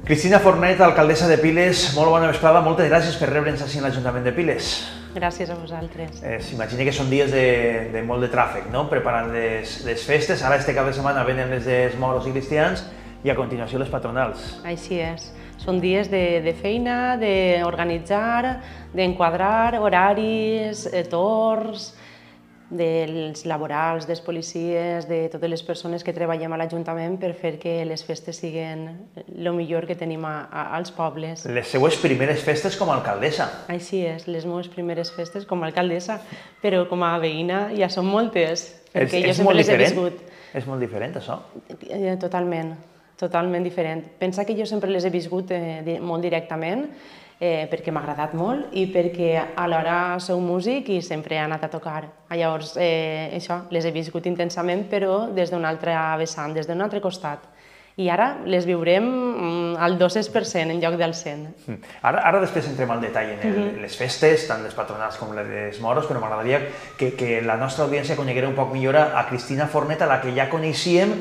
Cristina Fornet, alcaldessa de Piles, molt bona vesprada, moltes gràcies per rebre'ns així en l'Ajuntament de Piles. Gràcies a vosaltres. S'imagina que són dies de molt de tràfic, no? Preparant les festes, ara este cap de setmana venen les dels moros i cristians i a continuació les patronals. Així és. Són dies de feina, d'organitzar, d'enquadrar horaris, torns, dels laborals, dels policies, de totes les persones que treballem a l'Ajuntament per fer que les festes siguin el millor que tenim als pobles. Les seues primeres festes com a alcaldessa. Així és, les meves primeres festes com a alcaldessa, però com a veïna ja són moltes, perquè jo sempre les he viscut. És molt diferent, això? Totalment, totalment diferent. Pensa que jo sempre les he viscut molt directament, perquè m'ha agradat molt i perquè alhora sou músic i sempre he anat a tocar. Llavors, això, les he viscut intensament, però des d'un altre vessant, des d'un altre costat. I ara les viurem al 200% en lloc del 100%. Ara després entrem al detall en les festes, tant les patronals com les dels moros, però m'agradaria que la nostra audiència coneguera un poc millor a Cristina Fornet, a la que ja coneixíem,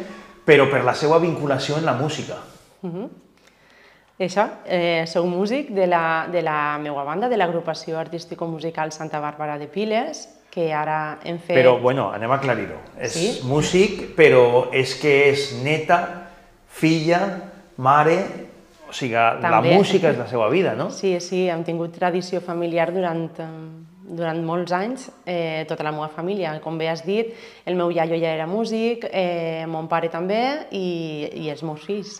però per la seva vinculació en la música. Això, sou músic de la meva banda, de l'agrupació artístico-musical Santa Bàrbara de Piles, que ara hem fet... Però, bueno, anem a aclarir-ho. És músic, però és que és neta, filla, mare... O sigui, la música és la seva vida, no? Sí, hem tingut tradició familiar durant molts anys, tota la meva família. Com bé has dit, el meu iaio ja era músic, mon pare també i els meus fills.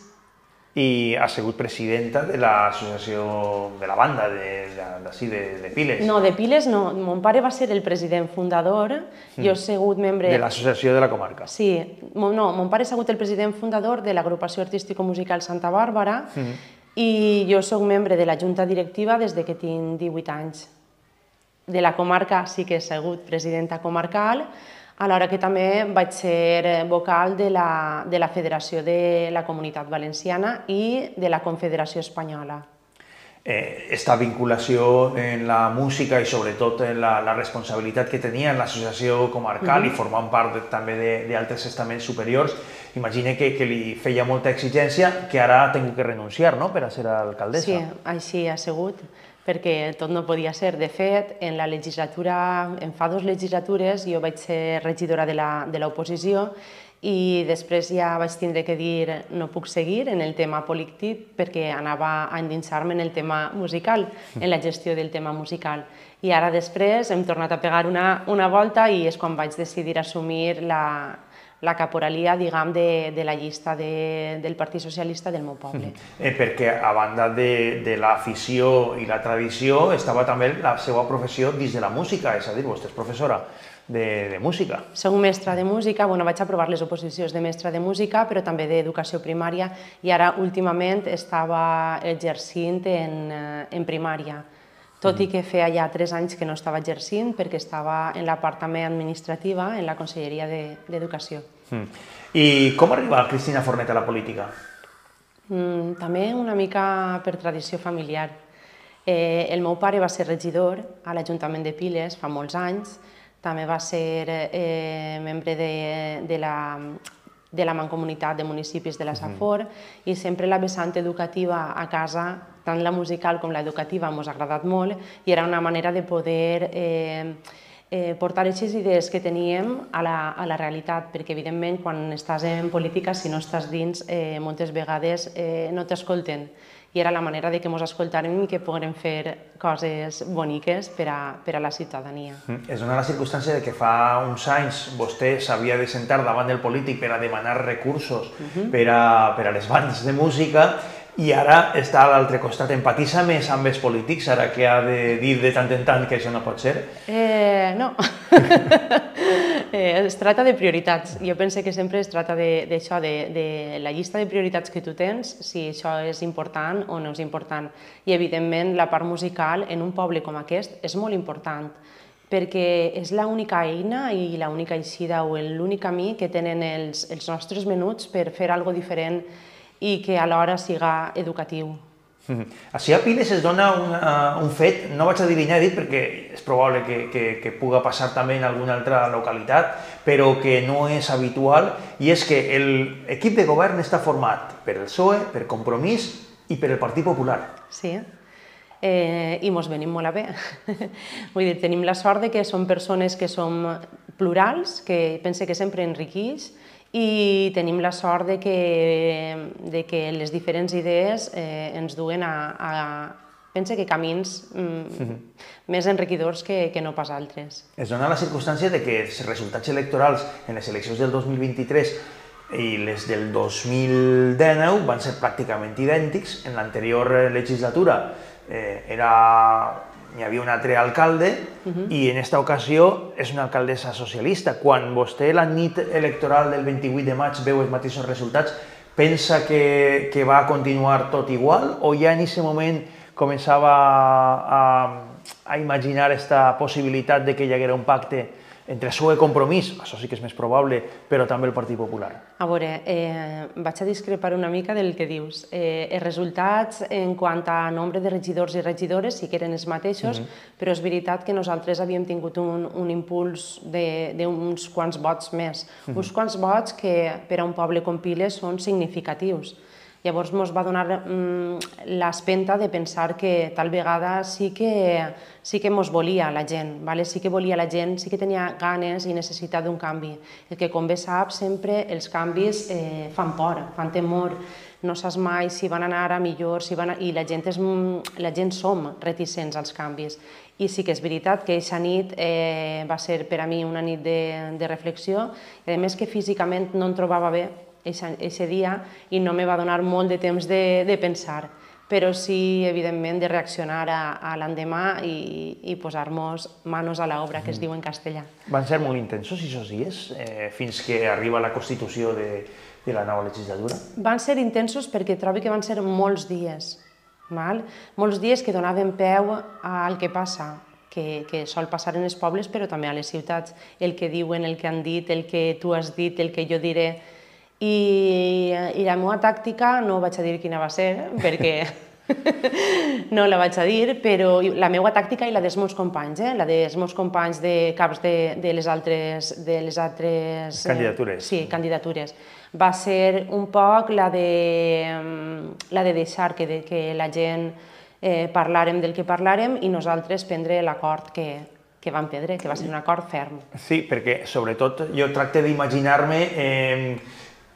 I ha sigut presidenta de l'associació de la banda d'ací, de Piles. No, de Piles no. Mon pare va ser el president fundador, jo he sigut membre... De l'associació de la comarca. Sí, no, mon pare ha sigut el president fundador de l'agrupació artístico-musical Santa Bàrbara i jo soc membre de la junta directiva des que tinc 18 anys. De la comarca sí que he sigut presidenta comarcal, alhora que també vaig ser vocal de la Federació de la Comunitat Valenciana i de la Confederació Espanyola. Esta vinculació en la música i sobretot en la responsabilitat que tenia en l'associació comarcal i formant part també d'altres estaments superiors, imagina que li feia molta exigència que ara ha hagut que renunciar per a ser alcaldessa. Sí, així ha sigut, perquè tot no podia ser. De fet, en fa 2 legislatures jo vaig ser regidora de l'oposició i després ja vaig tindre que dir no puc seguir en el tema polític perquè anava a endinsar-me en el tema musical, en la gestió del tema musical. I ara després hem tornat a pegar una volta i és quan vaig decidir assumir la caporalia, diguem, de la llista del Partit Socialista del meu poble. Perquè a banda de l'afició i la tradició estava també la seva professió dins de la música, és a dir, vostè és professora de música. Soc mestra de música, vaig aprovar les oposicions de mestra de música, però també d'educació primària i ara últimament estava exercint en primària. Tot i que feia ja 3 anys que no estava exercint perquè estava en la part també administrativa en la Conselleria d'Educació. I com arriba Cristina Fornet a la política? També una mica per tradició familiar. El meu pare va ser regidor a l'Ajuntament de Piles fa molts anys, també va ser membre de la Mancomunitat de Municipis de la Safor i sempre la vessant educativa a casa, tant la musical com l'educativa, ens ha agradat molt i era una manera de poder portar aquestes idees que teníem a la realitat, perquè evidentment quan estàs en política, si no estàs dins, moltes vegades no t'escolten i era la manera que ens escoltàrem i que poguérem fer coses boniques per a la ciutadania. Es dona la circumstància que fa uns anys vostè s'havia de sentar davant del polític per a demanar recursos per a les bandes de música i ara està a l'altre costat. Empatitza més amb els polítics, ara que ha de dir de tant en tant que això no pot ser? No. Es tracta de prioritats. Jo penso que sempre es tracta d'això, de la llista de prioritats que tu tens, si això és important o no és important. I, evidentment, la part musical en un poble com aquest és molt important, perquè és l'única eina i l'única eixida o l'únic camí que tenen els nostres menuts per fer alguna cosa diferent i que alhora siga educatiu. Així a Piles es dona un fet, no vaig a dir inèdit perquè és probable que pugui passar també en alguna altra localitat, però que no és habitual, i és que l'equip de govern està format per el PSOE, per Compromís I per el Partit Popular? Sí, i mos venim molt a bé. Vull dir, tenim la sort de que som persones que som plurals, que pense que sempre enriqueix, i tenim la sort de que les diferents idees ens duen pense que camins més enriquidors que no pas altres. Es dona la circumstància de que els resultats electorals en les eleccions del 2023 i les del 2019 van ser pràcticament idèntics. En l'anterior legislatura hi havia un altre alcalde i en aquesta ocasió és una alcaldessa socialista. Quan vostè la nit electoral del 28 de maig veu els mateixos resultats, pensa que va continuar tot igual o ja en aquest moment començava a imaginar aquesta possibilitat de que hi haguera un pacte entre el PSOE i Compromís, això sí que és més probable, però també el Partit Popular? A veure, vaig a discrepar una mica del que dius. Els resultats en quant a nombre de regidors i regidores sí que eren els mateixos, però és veritat que nosaltres havíem tingut un impuls d'uns quants vots més. Uns quants vots que per a un poble com Piles són significatius. Llavors ens va donar l'espenta de pensar que tal vegada sí que ens volia la gent, sí que volia la gent, sí que tenia ganes i necessitat d'un canvi. El que, com bé saps, sempre els canvis fan por, fan temor, no saps mai si van anar a millor, i la gent som reticents als canvis. I sí que és veritat que aquesta nit va ser per a mi una nit de reflexió, i a més que físicament no em trobava bé aquest dia i no me va donar molt de temps de pensar, però sí, evidentment, de reaccionar a l'endemà i posar-nos manos a l'obra, que es diu en castellà. Van ser molt intensos aquests dies, fins que arriba la constitució de la nova legislatura? Van ser intensos perquè trobo que van ser molts dies, molts dies que donaven peu al que passa, que sol passar en els pobles, però també a les ciutats, el que diuen, el que han dit, el que tu has dit, el que jo diré. I la meva tàctica, no vaig a dir quina va ser, perquè no la vaig a dir, però la meva tàctica i la dels meus companys, la dels meus companys de caps de les altres candidatures. Sí, candidatures. Va ser un poc la de deixar que la gent parlàrem del que parlàrem i nosaltres prendre l'acord que vam prendre, que va ser un acord ferm. Sí, perquè sobretot jo tracte d'imaginar-me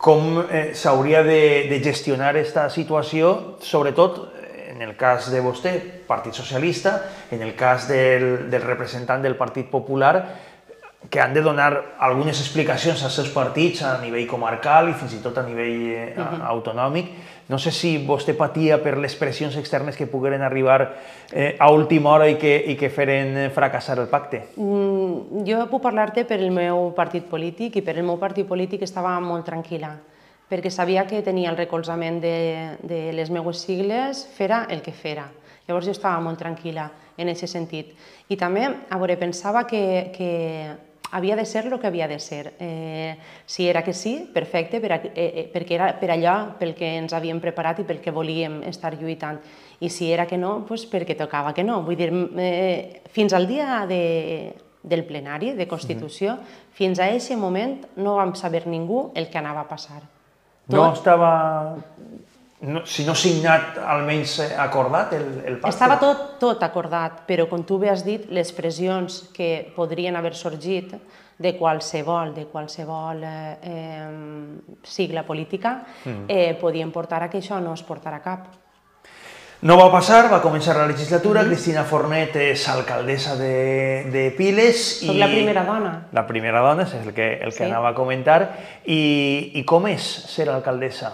com s'hauria de gestionar aquesta situació, sobretot en el cas de vostè, Partit Socialista, en el cas del representant del Partit Popular, que han de donar algunes explicacions als seus partits a nivell comarcal i fins i tot a nivell autonòmic. No sé si vostè patia per les pressions externes que pogueren arribar a última hora i que feren fracassar el pacte. Jo puc parlar-te per el meu partit polític i per el meu partit polític estava molt tranquil·la, perquè sabia que tenia el recolzament de les meves sigles, fera el que fera. Llavors jo estava molt tranquil·la en aquest sentit. I també, pensava que havia de ser el que havia de ser. Si era que sí, perfecte, perquè era per allò pel que ens havíem preparat i pel que volíem estar lluitant. I si era que no, doncs perquè tocava que no. Vull dir, fins al dia del plenari de Constitució, fins a aquest moment no vam saber ningú el que anava a passar. No estava, si no signat, almenys acordat el pacte? Estava tot acordat, però com tu bé has dit, les pressions que podrien haver sorgit de qualsevol sigla política podien portar a que això no es portara a cap. No va passar, va començar la legislatura, Cristina Fornet és alcaldessa de Piles. Soc la primera dona. La primera dona, és el que anava a comentar. I com és ser alcaldessa?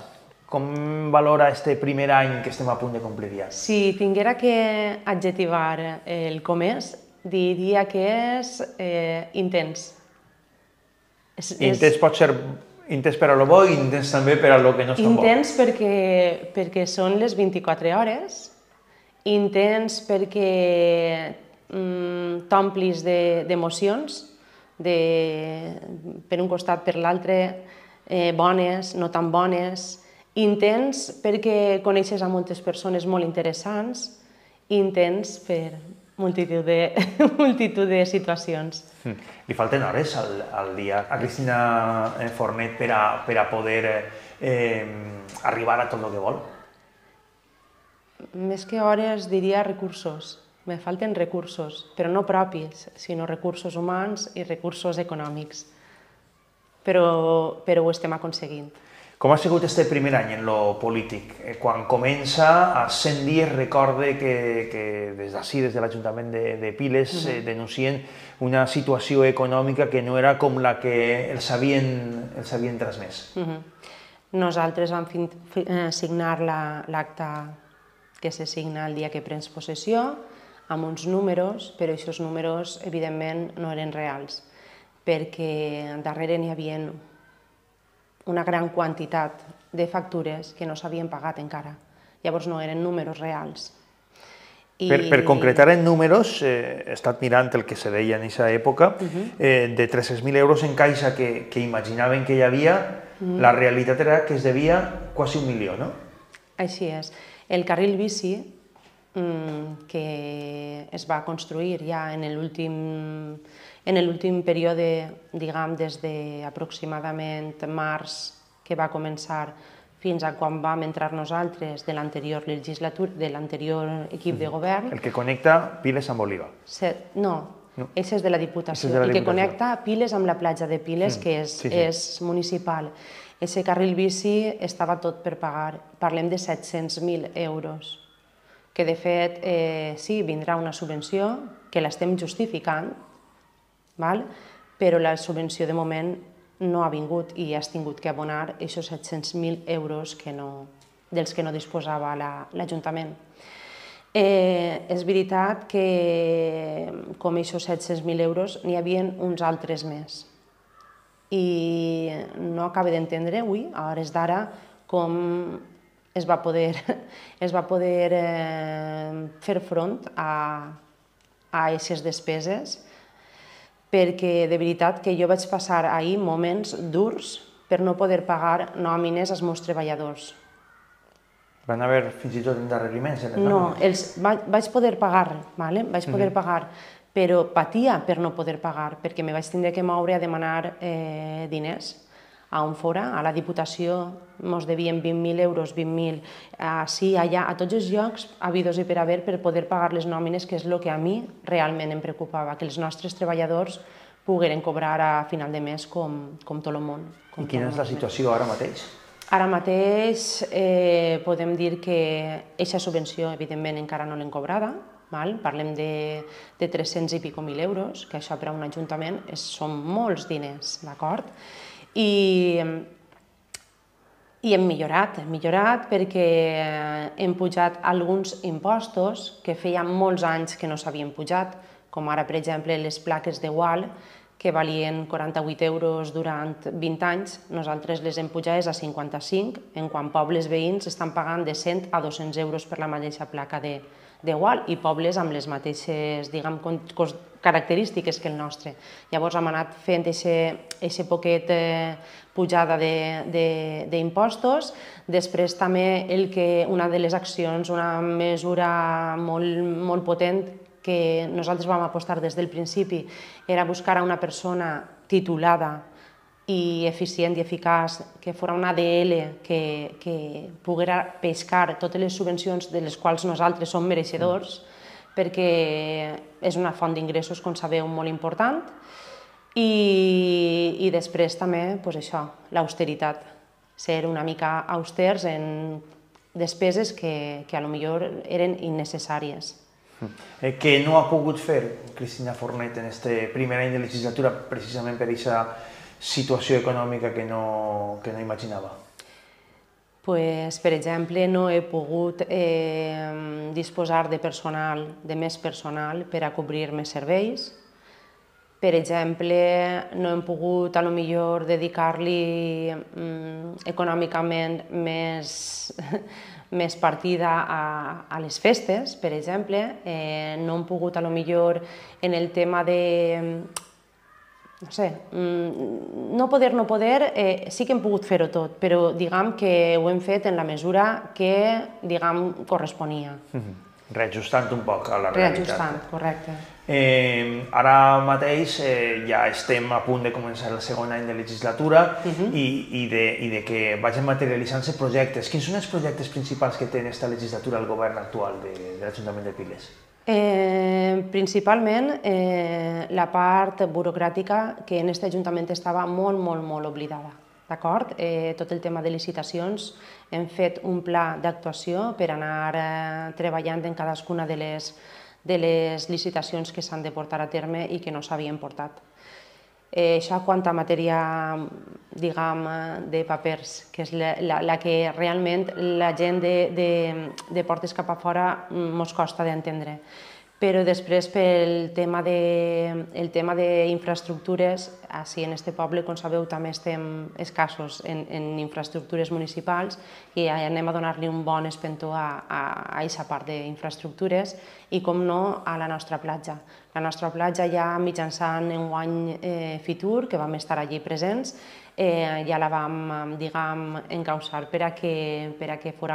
Com valora este primer any que estem a punt de complir ja? Si tinguera que adjetivar el com és, diria que és intens. Intens pot ser intens per a lo bo i intens també per a lo que no és tan bo. Intens perquè són les 24 hores, intens perquè t'omplis d'emocions, per un costat per l'altre, bones, no tan bones, intens perquè coneixes a moltes persones molt interessants, intens per multitud de situacions. Li falten hores al dia a Cristina Fornet per a poder arribar a tot el que vol? més que hores diria recursos. Me falten recursos, però no propis, sinó recursos humans i recursos econòmics. Però ho estem aconseguint. Com ha sigut este primer any en lo polític? Quan comença, a 100 dies, recorde que des d'ací, des de l'Ajuntament de Piles, denuncien una situació econòmica que no era com la que els havien transmès. Nosaltres vam signar l'acte que se signa el dia que prens possessió, amb uns números, però aquests números, evidentment, no eren reals, perquè darrere n'hi havia una gran quantitat de factures que no s'havien pagat encara. Llavors no eren números reals. Per concretar en números, he estat mirant el que se deia en aquesta època, de 300.000 euros en caixa que imaginaven que hi havia, la realitat era que es devia quasi 1 milió, no? Així és. El carril bici, que es va construir ja en l'últim període, diguem, des d'aproximadament març, que va començar fins a quan vam entrar nosaltres de l'anterior legislatura, de l'anterior equip de govern. El que connecta Piles amb Oliva. No, això és de la Diputació. El que connecta Piles amb la platja de Piles, que és municipal. Aquest carril bici estava tot per pagar. Parlem de 700.000 euros. Que de fet, sí, vindrà una subvenció, que l'estem justificant, però la subvenció de moment no ha vingut i has tingut que abonar aquests 700.000 euros dels que no disposava l'Ajuntament. És veritat que, com aquests 700.000 euros, n'hi havia uns altres més. I no acabo d'entendre avui, a hores d'ara, com es va poder fer front a aquestes despeses, perquè de veritat que jo vaig passar ahir moments durs per no poder pagar nòmines als meus treballadors. Van haver fins i tot endarreriments en les nòmines? No, vaig poder pagar, però patia per no poder pagar, perquè me vaig tindre que moure a demanar diners. A on fora, a la Diputació, ens devien 20.000 euros, 20.000, ací, allà, a tots els llocs, habidos i per haver, per poder pagar les nòmines, que és el que a mi realment em preocupava, que els nostres treballadors pogueren cobrar a final de mes com tot el món. I quina és la situació ara mateix? Ara mateix podem dir que aquesta subvenció, evidentment, encara no l'hem cobrada. Parlem de 300 i pico mil euros, que això per a un ajuntament són molts diners, d'acord? I hem millorat perquè hem pujat alguns impostos que feia molts anys que no s'havien pujat, com ara, per exemple, les plaques de gual, que valien 48 euros durant 20 anys, nosaltres les hem pujades a 55, en quan pobles veïns estan pagant de 100 a 200 euros per la mateixa placa de gual, i pobles amb les mateixes, diguem, característiques que el nostre. Llavors hem anat fent aquesta poquet pujada d'impostos. Després també una de les accions, una mesura molt potent que nosaltres vam apostar des del principi, era buscar una persona titulada i eficient i eficaç, que fos una ADL que poguera pescar totes les subvencions de les quals nosaltres som mereixedors, perquè és una font d'ingressos, com sabeu, molt important. I després també, això, l'austeritat, ser una mica austers en despeses que potser eren innecessàries. Què no ha pogut fer Cristina Fornet en aquest primer any de legislatura, precisament per aquesta situació econòmica que no imaginava? Per exemple, no he pogut disposar de més personal per a cobrir més serveis. Per exemple, no hem pogut, potser, dedicar-li econòmicament més partida a les festes, per exemple. No hem pogut, potser, en el tema de no sé, no poder, sí que hem pogut fer-ho tot, però diguem que ho hem fet en la mesura que, diguem, corresponia. Reajustant un poc a la realitat. Reajustant, correcte. Ara mateix ja estem a punt de començar el segon any de legislatura i de que vagin materialitzant-se projectes. Quins són els projectes principals que té aquesta legislatura el govern actual de l'Ajuntament de Piles? Principalment la part burocràtica que en aquest Ajuntament estava molt oblidada. D'acord? Tot el tema de licitacions, hem fet un pla d'actuació per anar treballant en cadascuna de les licitacions que s'han de portar a terme i que no s'havien portat. Això quant a matèria, diguem, de papers, que és la que realment la gent de portes cap a fora ens costa d'entendre. Però després, pel tema d'infraestructures, així en aquest poble, com sabeu, també estem escassos en infraestructures municipals i anem a donar-li un bon espentó a aquesta part d'infraestructures i, com no, a la nostra platja. La nostra platja ja mitjançant enguany Fitur, que vam estar allí presents, ja la vam, diguem, encausar per a que fos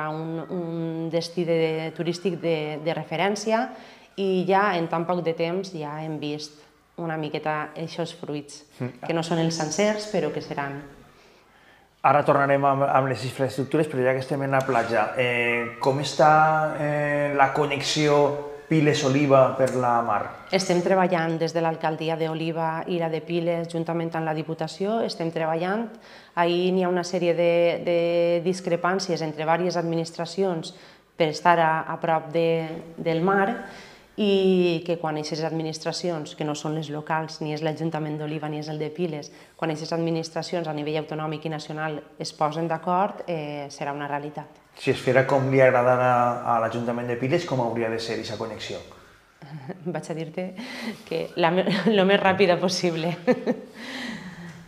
un destí turístic de referència i ja en tan poc de temps ja hem vist una miqueta aquests fruits, que no són els sencers, però que seran. Ara tornarem amb les infraestructures, però ja que estem en la platja, com està la connexió Piles-Oliva per la mar? Estem treballant des de l'alcaldia d'Oliva i la de Piles, juntament amb la Diputació, estem treballant. Ahir n'hi ha una sèrie de discrepàncies entre diverses administracions per estar a prop del mar, i que quan aquestes administracions, que no són les locals, ni és l'Ajuntament d'Oliva ni és el de Piles, quan aquestes administracions a nivell autonòmic i nacional es posen d'acord, serà una realitat. Si es fera com li agrada a l'Ajuntament de Piles, com hauria de ser aquesta connexió? Vaig a dir-te que el més ràpida possible.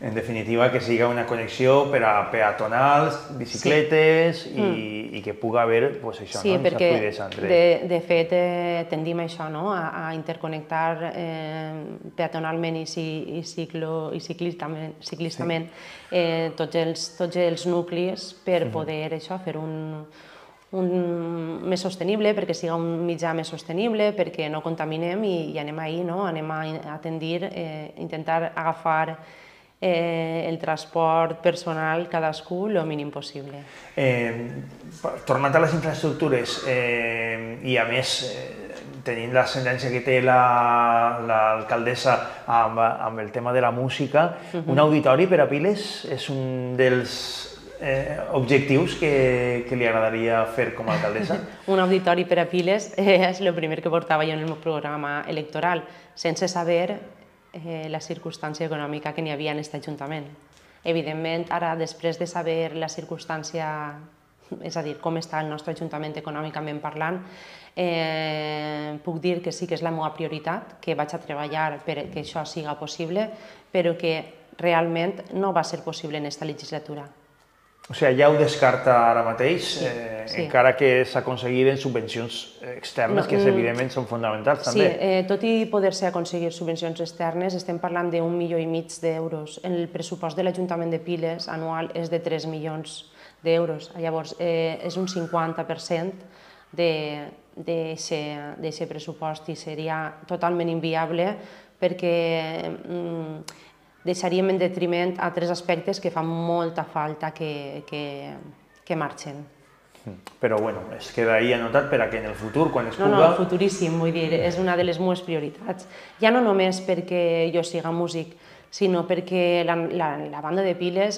En definitiva, que siga una connexió per a peatonals, bicicletes i que pugui haver això, sí, perquè de fet tendim a això, a interconnectar peatonalment i ciclistament tots els nuclis per poder fer un més sostenible, perquè siga un mitjà més sostenible, perquè no contaminem i anem ahí, anem a tendir, intentar agafar el transport personal cadascú el mínim possible. Tornant a les infraestructures i a més tenint l'ascendència que té l'alcaldessa amb el tema de la música, un auditori per a Piles és un dels objectius que li agradaria fer com a alcaldessa? Un auditori per a Piles és el primer que portava jo en el meu programa electoral, sense saber la circumstància econòmica que n'hi havia en aquest Ajuntament. Evidentment, ara, després de saber la circumstància, és a dir, com està el nostre Ajuntament econòmicament parlant, puc dir que sí que és la meva prioritat, que vaig a treballar perquè això siga possible, però que realment no va ser possible en aquesta legislatura. O sigui, ja ho descarta ara mateix, encara que s'aconseguiren subvencions externes, que evidentment són fonamentals també. Sí, tot i poder-se aconseguir subvencions externes, estem parlant d'1,5 milió d'euros. El pressupost de l'Ajuntament de Piles anual és de 3 milions d'euros. Llavors, és un 50% d'aquest pressupost i seria totalment inviable perquè deixaríem en detriment altres aspectes que fan molta falta que marxen. Però, bueno, es queda ahí anotat per a que en el futur, quan es puga... No, futuríssim, vull dir, és una de les meves prioritats. Ja no només perquè jo siga músic, sinó perquè la banda de Piles,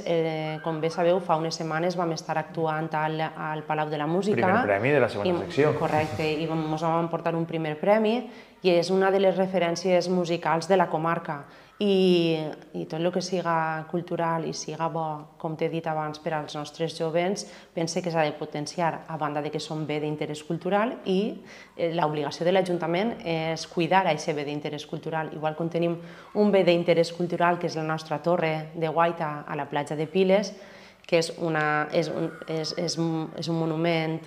com bé sabeu, fa unes setmanes vam estar actuant al Palau de la Música. Primer premi de la segona secció. Correcte, i ens vam portar un primer premi i és una de les referències musicals de la comarca. I tot el que siga cultural i siga bo, com t'he dit abans, per als nostres jovens, pense que s'ha de potenciar, a banda que són bé d'interès cultural, i l'obligació de l'Ajuntament és cuidar aquest bé d'interès cultural. Igual que tenim un bé d'interès cultural, que és la nostra torre de guaita a la platja de Piles, que és un monument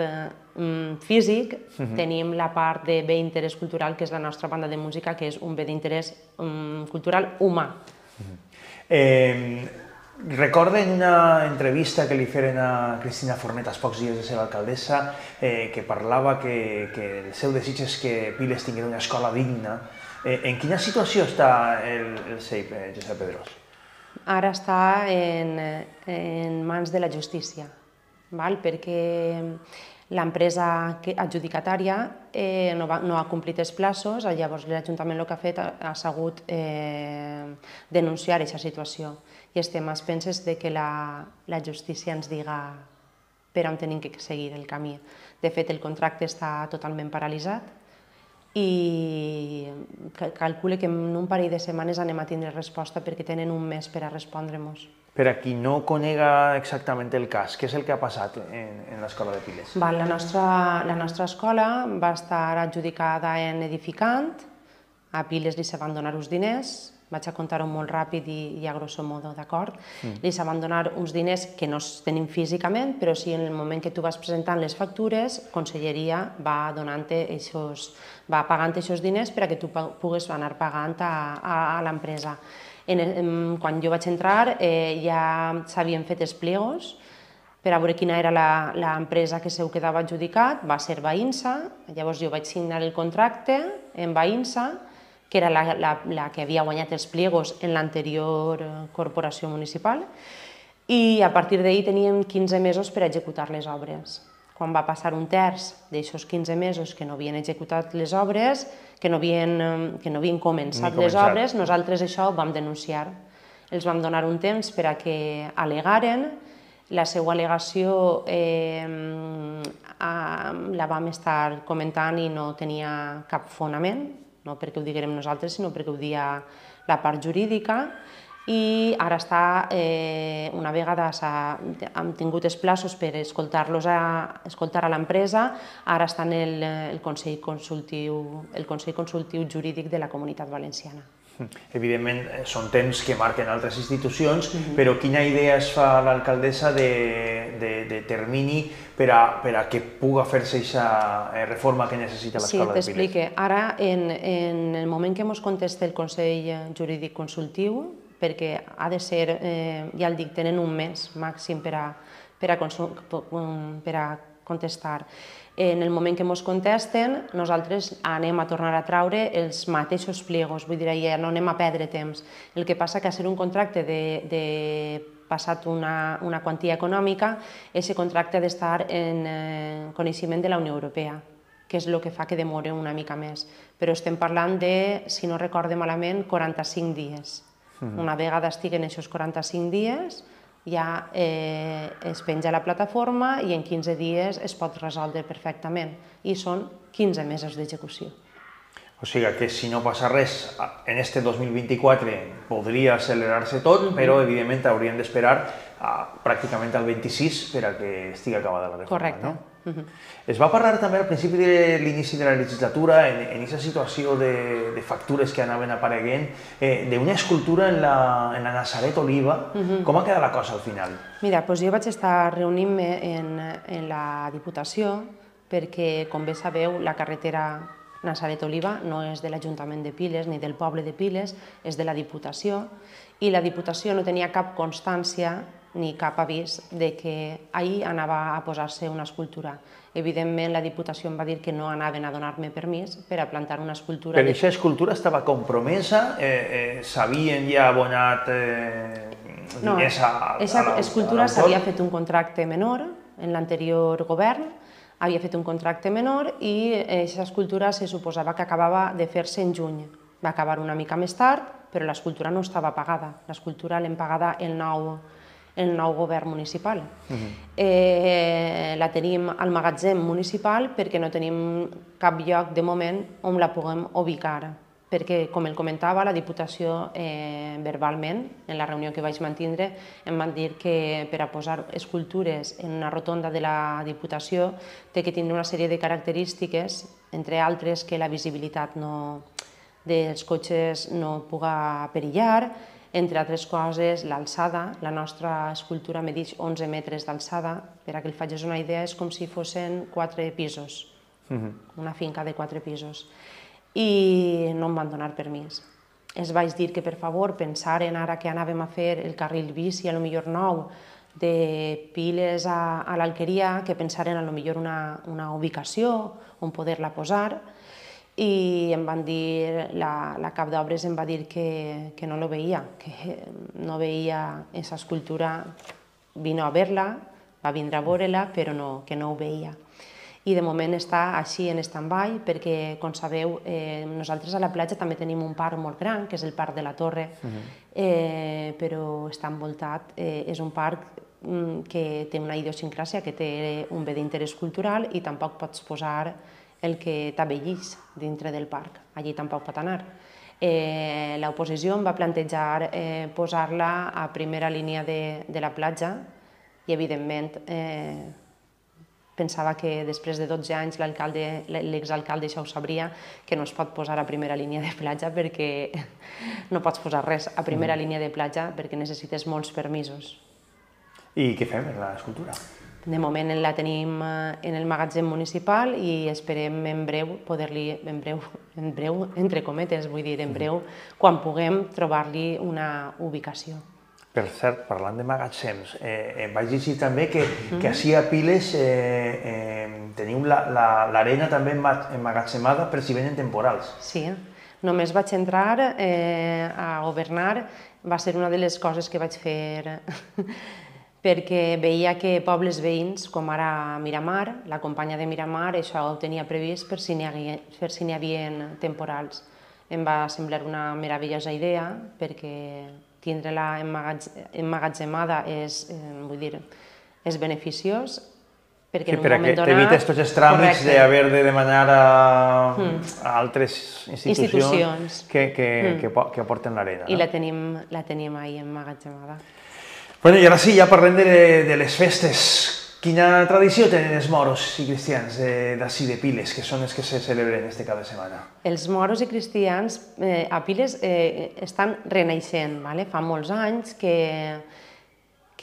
físic, tenim la part de bé d'interès cultural, que és la nostra banda de música, que és un bé d'interès cultural humà. Recordo en una entrevista que li feren a Cristina Fornet als pocs dies de ser alcaldessa que parlava que el seu desig és que Piles tingués una escola digna En quina situació està el CEIP, Josep Pedrós? Ara està en mans de la justícia, perquè l'empresa adjudicatària no ha complit els plaços, llavors l'Ajuntament el que ha fet ha sigut denunciar aquesta situació i estem a expenses que la justícia ens diga per on hem de seguir el camí. De fet, el contracte està totalment paralitzat i calcule que en un parell de setmanes anem a tindre resposta perquè tenen un mes per a respondre-nos. Per a qui no conega exactament el cas, què és el que ha passat en l'escola de Piles? La nostra escola va estar adjudicada en edificant, a Piles li se van donar uns diners, vaig a contar-ho molt ràpid i a grosso modo, d'acord? Li se van donar uns diners que no els tenim físicament, però sí en el moment que tu vas presentant les factures, Conselleria va pagant aquests diners per a que tu puguis anar pagant a l'empresa. Quan jo vaig entrar ja s'havien fet els pliegos per a veure quina era l'empresa que se ho quedava adjudicat, va ser Bainsa, llavors jo vaig signar el contracte en Bainsa, que era la que havia guanyat els pliegos en l'anterior corporació municipal, i a partir d'ahir teníem 15 mesos per executar les obres. Quan va passar un terç d'aquests 15 mesos que no havien executat les obres, que no havien començat les obres, nosaltres això ho vam denunciar. Els vam donar un temps per a que al·legaren. La seva al·legació la vam estar comentant i no tenia cap fonament, no perquè ho diguérem nosaltres, sinó perquè ho dia la part jurídica. I ara està, una vegada hem tingut els plaços per escoltar a l'empresa, ara està en el Consell Consultiu Jurídic de la Comunitat Valenciana. Evidentment, són temps que marquen altres institucions, però quina idea es fa l'alcaldessa de termini per a que pugui fer-se aquesta reforma que necessita l'escola de Piles? Sí, t'explique. Ara, en el moment que ens contesta el Consell Jurídic Consultiu, perquè ha de ser, ja el dic, tenen un mes màxim per a contestar. En el moment que ens contesten, nosaltres anem a tornar a traure els mateixos pliegos, vull dir, ja no anem a perdre temps. El que passa que a ser un contracte de passat una quantia econòmica, aquest contracte ha d'estar en coneixement de la Unió Europea, que és el que fa que demori una mica més. Però estem parlant de, si no recorde malament, 45 dies. Una vegada estiguen aquests 45 dies, ja es penja a la plataforma i en 15 dies es pot resoldre perfectament. I són 15 mesos d'execució. O sigui que si no passa res, en este 2024 podria accelerar-se tot, però evidentment hauríem d'esperar pràcticament al 26 per a que estigui acabada la reforma. Correcte. Es va parlar també al principi de l'inici de la legislatura, en aquesta situació de factures que anaven apareguent, d'una escultura en la Nazaret Oliva. Com ha quedat la cosa al final? Mira, jo vaig estar reunint-me en la Diputació perquè, com bé sabeu, la carretera Nazaret Oliva no és de l'Ajuntament de Piles ni del poble de Piles, és de la Diputació, i la Diputació no tenia cap constància ni cap avís de que ahir anava a posar-se una escultura. Evidentment, la Diputació em va dir que no anaven a donar-me permís per a plantar una escultura. Però aquesta escultura estava compromesa? S'havien ja abonat diners a l'autor? Aquesta escultura s'havia fet un contracte menor en l'anterior govern, havia fet un contracte menor i aquesta escultura se suposava que acabava de fer-se en juny. Va acabar una mica més tard, però l'escultura no estava pagada. L'escultura l'hem pagada el nou govern municipal. La tenim al magatzem municipal perquè no tenim cap lloc de moment on la puguem ubicar. Perquè, com el comentava, la Diputació verbalment, en la reunió que vaig mantindre, em van dir que per a posar escultures en una rotonda de la Diputació té que tindre una sèrie de característiques, entre altres que la visibilitat dels cotxes no puga perillar, entre altres coses, l'alçada. La nostra escultura medeix 11 metres d'alçada. Per a que el facis una idea, és com si fossin 4 pisos, una finca de 4 pisos. I no em van donar permís. Els vaig dir que, per favor, pensaren ara que anàvem a fer el carril bici, a lo millor nou, de Piles a l'Alqueria, que pensaren a lo millor una ubicació on poder-la posar. i em van dir, la cap d'obres em va dir que no lo veia, que no veia aquesta escultura, vino a veure-la, va vindre a veure-la, però que no ho veia. I de moment està així en stand-by perquè, com sabeu, nosaltres a la platja també tenim un parc molt gran, que és el Parc de la Torre, però està envoltat, és un parc que té una idiosincràsia, que té un bé d'interès cultural i tampoc pots posar el que t'abellís dintre del parc, allí tampoc pot anar. L'oposició em va plantejar posar-la a primera línia de la platja i, evidentment, pensava que després de 12 anys l'exalcalde això ho sabria, que no es pot posar a primera línia de platja perquè no pots posar res a primera línia de platja perquè necessites molts permisos. I què fem amb l'escultura? De moment la tenim en el magatzem municipal i esperem en breu poder-li, en breu, entre cometes, vull dir, en breu, quan puguem trobar-li una ubicació. Per cert, parlant de magatzems, vaig llegir també que així a Piles teniu l'arena també emmagatzemada per si venen temporals. Sí, només vaig entrar a governar, va ser una de les coses que vaig fer perquè veia que pobles veïns, com ara Miramar, la companya de Miramar, això ho tenia previst per si n'hi havia temporals. Em va semblar una meravellosa idea perquè tindre-la emmagatzemada és beneficiós, perquè en un moment donat... T'evites tots els tràmits d'haver de demanar a altres institucions que aporten l'arena. I la tenim ahí emmagatzemada. Bueno, i ara sí, ja parlem de les festes. Quina tradició tenen els moros i cristians d'ací de Piles, que són els que se celebren este cap de setmana? Els moros i cristians a Piles estan renaixent. Fa molts anys que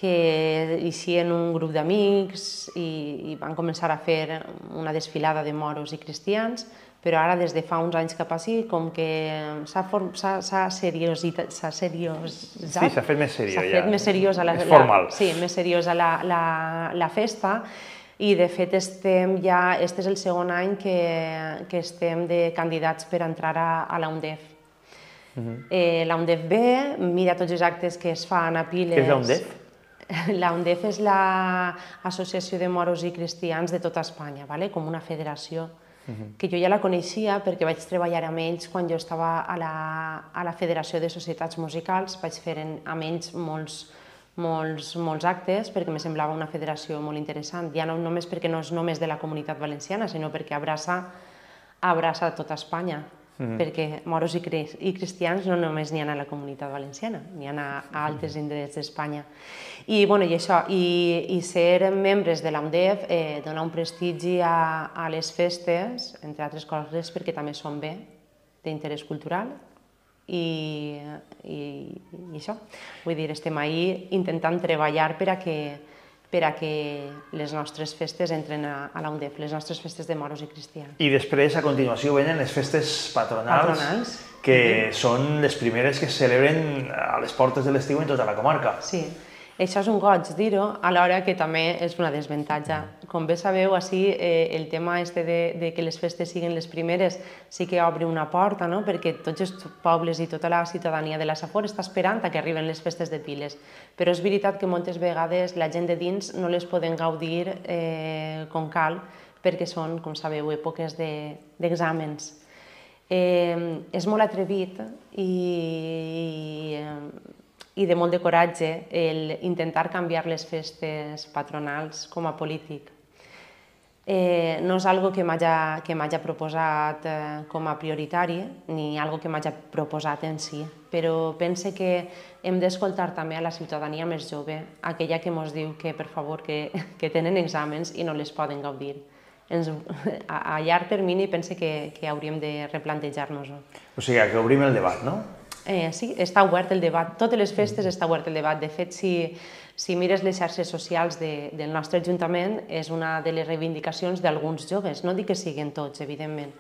eixien un grup d'amics i van començar a fer una desfilada de moros i cristians, però ara des de fa uns anys cap així com que s'ha seriositzat. Sí, s'ha fet més seriós ja. S'ha fet més seriosa és formal. Sí, més seriosa la festa i de fet este és el segon any que estem de candidats per entrar a la UNDEF. La UNDEF ve, mira tots els actes que es fan a Piles. Què és la UNDEF? La UNDEF és l'Associació de Moros i Cristians de tota Espanya, com una federació que jo ja la coneixia perquè vaig treballar amb ells quan jo estava a la Federació de Societats Musicals, vaig fer amb ells molts actes perquè em semblava una federació molt interessant, ja no només perquè no és només de la Comunitat Valenciana, sinó perquè abraça tota Espanya, perquè moros i cristians no només n'hi ha a la Comunitat Valenciana, n'hi ha a altres indrets d'Espanya. I això, i ser membres de l'UNDEF dona un prestigi a les festes, entre altres coses perquè també són bé d'interès cultural i això. Vull dir, estem ahí intentant treballar per a que les nostres festes entren a la UNDEF, les nostres festes de moros i cristians. I després, a continuació, venen les festes patronals, que són les primeres que es celebren a les portes de l'estiu en tota la comarca. Sí, això és un goig dir-ho, alhora que també és una desavantatge. Com bé sabeu, així el tema de que les festes siguin les primeres sí que obre una porta, perquè tots els pobles i tota la ciutadania de la Safor està esperant que arriben les festes de Piles. Però és veritat que moltes vegades la gent de dins no les poden gaudir com cal, perquè són, com sabeu, èpoques d'exàmens. És molt atrevit i de molt de coratge intentar canviar les festes patronals com a polític. No és algo que m'hagi proposat com a prioritari, ni algo que m'hagi proposat en si, però pense que hem d'escoltar també a la ciutadania més jove, aquella que ens diu que, per favor, que tenen exàmens i no les poden gaudir. A llarg termini pense que hauríem de replantejar-nos-ho. O sigui, que obrim el debat, no? Sí, està obert el debat. Totes les festes està obert el debat. De fet, si mires les xarxes socials del nostre Ajuntament, és una de les reivindicacions d'alguns joves. No dic que siguin tots, evidentment,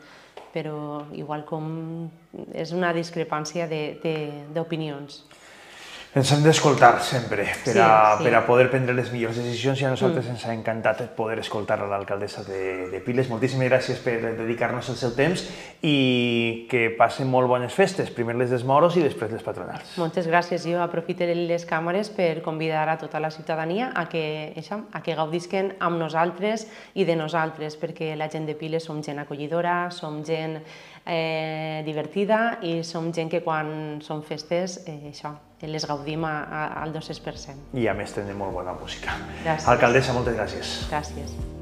però igual com és una discrepància d'opinions. Ens hem d'escoltar sempre per a poder prendre les millors decisions i a nosaltres ens ha encantat poder escoltar a l'alcaldessa de Piles. Moltíssimes gràcies per dedicar-nos el seu temps i que passen molt bones festes, primer les dels moros i després les patronals. Moltes gràcies. Jo aprofitaré les càmeres per convidar a tota la ciutadania a que gaudisquen amb nosaltres i de nosaltres, perquè la gent de Piles som gent acollidora, som gent divertida i som gent que quan són festes les gaudim al 200%. I a més tenen molt bona música. Gràcies. Alcaldessa, moltes gràcies. Gràcies.